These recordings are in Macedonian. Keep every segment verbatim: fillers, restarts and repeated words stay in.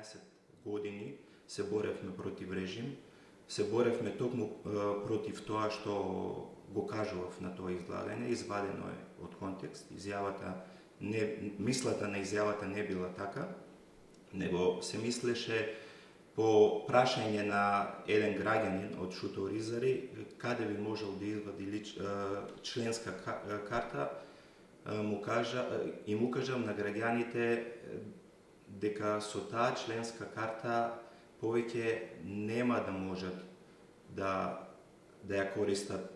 тринаесет години се боревме против режим, се боревме токму против тоа што го кажував на тоа излагање, извадено е од контекст. Изјавата не, мислата на изјавата не била така, него се мислеше по прашање на еден граѓанин од Шуто-Оризари каде би можел да извади лич, членска карта, му кажа, и му кажам на граѓаните дека со таа членска карта повеќе нема да можат да, да ја користат.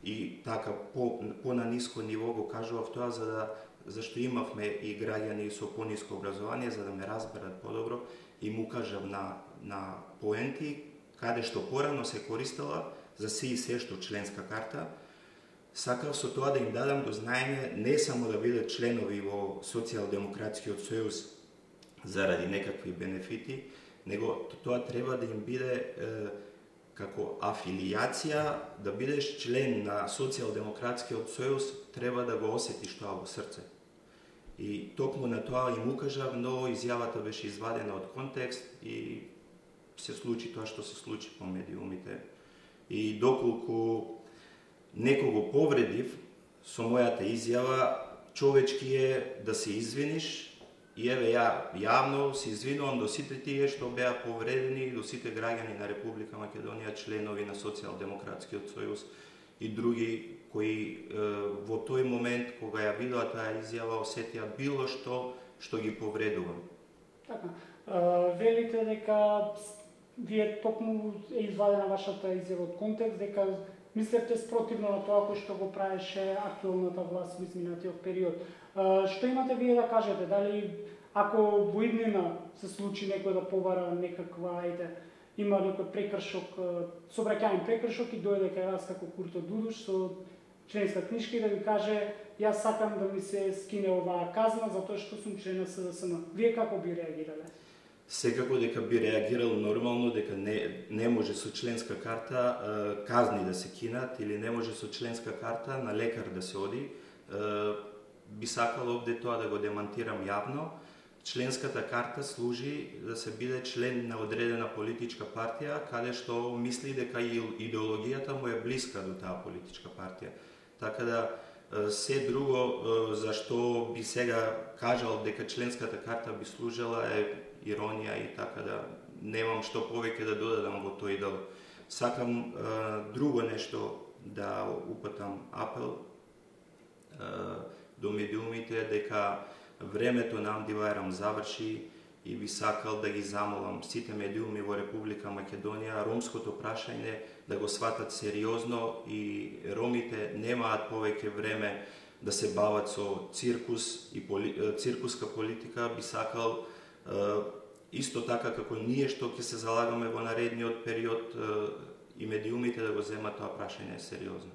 И така по, по на ниско ниво го кажував тоа за да, зашто имавме и граѓани со пониско образование за да ме разберат подобро и му кажав на, на поенти каде што порано се користела за се и се што членска карта. Сакав со тоа да им дадам до знаење не само да бидат членови во Социјалдемократскиот сојуз заради некакви бенефити, него тоа треба да им биде е, како афилијација, да бидеш член на Социјалдемократскиот сојуз, треба да го осетиш тоа во срце. И токму на тоа им укажав, но изјавата беше извадена од контекст и се случи тоа што се случи по медиумите. И доколку некого повредив со мојата изјава, човечки е да се извиниш. И еве ја јавно се извинувам до сите тие што беа повредени, до сите граѓани на Република Македонија, членови на Социјалдемократскиот сојуз и други кои е, во тој момент кога ја видоа таа изјава осетија било што што ги повредува. Така, а, велите дека вие токму е извадена вашата изјава од контекст, дека мислевте спротивно на тоа кој што го правеше актуелната власт во изминатиот период. А, што имате вие да кажете? Дали ако во иднина се случи некој да побара некаква, ајде, има некој прекршок, сообраќајен прекршок и дојде кај вас како Курто Дудуш со членска книжка и да ви каже јас сакам да ми се скине оваа казна затоа што сум член на С D S M. Вие како би реагирале? Секако дека би реагирал нормално, дека не, не може со членска карта казни да се кинат или не може со членска карта на лекар да се оди. Би сакал овде тоа да го демантирам јавно. Членската карта служи да се биде член на одредена политичка партија, каде што мисли дека идеологијата му е блиска до таа политичка партија. Така да се друго за што би сега кажал дека членската карта би служела е иронија и така да немам што повеќе да додадам во тој дел. Сакам е, друго нешто да упатам апел е, до медиумите дека времето на Амди Бајрам заврши и би сакал да ги замолам сите медиуми во Република Македонија ромското прашање да го сватат сериозно и ромите немаат повеќе време да се бават со циркус и поли, циркуска политика. Би сакал исто така како ние што ќе се залагаме во наредниот период и медиумите да го земат тоа прашање сериозно.